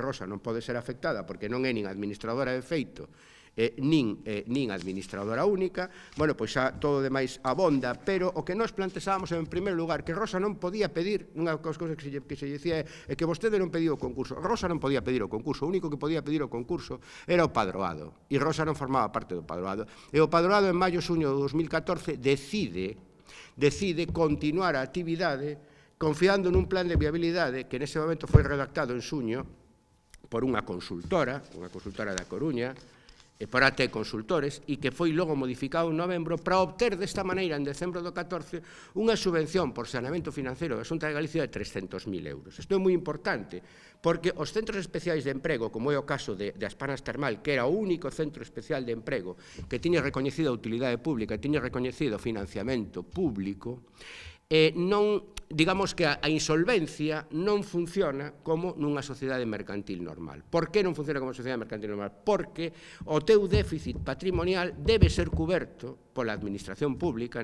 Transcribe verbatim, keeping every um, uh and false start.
Rosa non pode ser afectada porque non é nin administradora de feito Eh, nin, eh, nin administradora única, bueno, pois xa todo demais abonda, pero o que nós planteábamos en primeiro lugar, que Rosa non podía pedir, unha das cousas que se, que se dicía é que vostede non pediu o concurso, Rosa non podía pedir o concurso, o único que podía pedir o concurso era o padroado, e Rosa non formaba parte do padroado, e o padroado en maio xuño de dos mil catorce decide, decide continuar a actividade confiando nun plan de viabilidade que nese momento foi redactado en xuño por unha consultora, unha consultora da Coruña, e por A T Consultores, e que foi logo modificado en novembro para obter desta maneira, en decembro do catorce, unha subvención por saneamento financiero da Xunta de Galicia de trescentos mil euros. Isto é moi importante, porque os centros especiais de emprego, como é o caso de, de Aspanas Termal, que era o único centro especial de emprego que tiña reconhecida a utilidade pública, tiña reconhecido o financiamento público, eh, non, digamos que a, a insolvencia non funciona como nunha sociedade mercantil normal. Por que non funciona como sociedade mercantil normal? Porque o teu déficit patrimonial debe ser cuberto pola administración pública,